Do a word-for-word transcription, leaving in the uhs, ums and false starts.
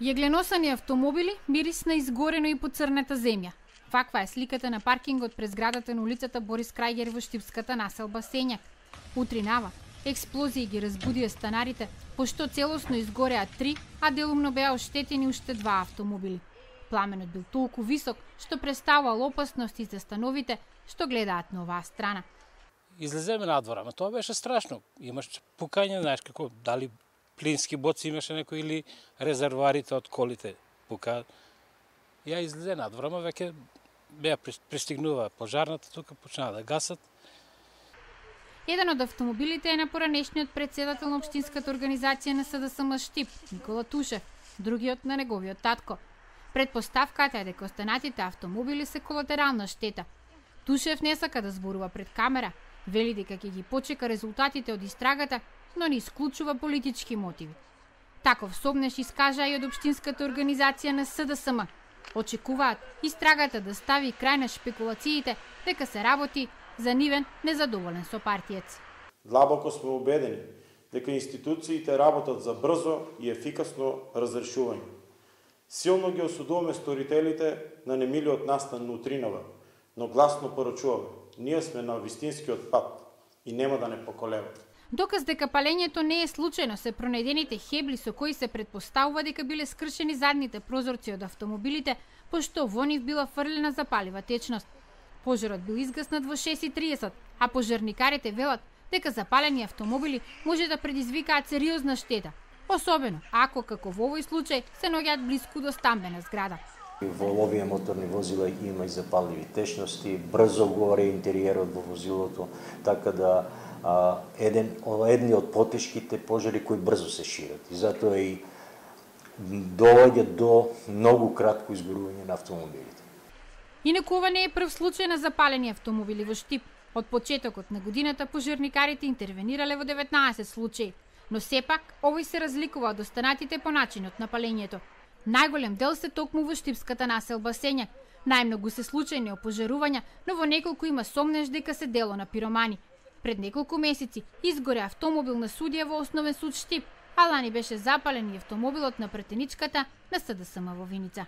Јагленосани автомобили, мирис на изгорено и поцрната земја. Ваква е сликата на паркингот пред зградата на улицата Борис Крајгер во штипската населба Сењак. Утринава, експлозии ги разбудија станарите, пошто целосно изгореа три, а делумно беа оштетени уште два автомобили. Пламенот бил толку висок, што представувал опасност и за становите што гледаат на оваа страна. Излеземе надвор, ама тоа беше страшно. Имаш пукање, знаеш како, дали плински боци имаше некој или резервоарите од колите пука. Ја излезе надвор, ама веќе беа пристигнува пожарната, тука почнаа да гасат. Еден од автомобилите е на поранешниот претседател на општинската организација на СДСМ Штип, Никола Тушев, другиот на неговиот татко. Предпоставката е дека останатите автомобили се колатерална штета. Тушев не сака да зборува пред камера, вели дека ќе ги почека резултатите од истрагата, но не исклучува политички мотиви. Таков сомнеш искажа и од општинската организација на СДСМ. Очекуваат истрагата да стави крај на шпекулациите дека се работи за нивен незадоволен со партиец. Длабоко сме убедени дека институциите работат за брзо и ефикасно разрешување. Силно ги осудуваме сторителите на немилиот настан утринава, но гласно порачуваме. Ние сме на вистинскиот пат и нема да не поколеваме. Доказ дека палењето не е случајно се пронајдените хебли со кои се предпоставува дека биле скршени задните прозорци од автомобилите, пошто во нив била фрлена запалива течност. Пожарот бил изгаснат во шест и триесет, а пожарникарите велат дека запалени автомобили може да предизвикаат сериозна штета, особено ако, како во овој случај, се наоѓаат блиску до стамбена зграда. Во овие моторни возила има и запалливи течности, брзо горе интериерот во возилото, така да а, еден, едни од потешките пожари кои брзо се шират. И затоа и доаѓа до многу кратко изгорување на автомобилите. Инаку ова не е прв случај на запалени автомобили во Штип. Од почетокот на годината пожарникарите интервенирале во деветнаесет случаи, но сепак овој се разликува од останатите по начинот на палењето. Најголем дел се токму во штипската населба Сењак. Најмногу се случајни опожарувања, но во неколку има сомнеш дека се дело на пиромани. Пред неколку месеци изгоре автомобил на судија во Основен суд Штип, а лани беше запален и автомобилот на претеничката на СДСМ во Виница.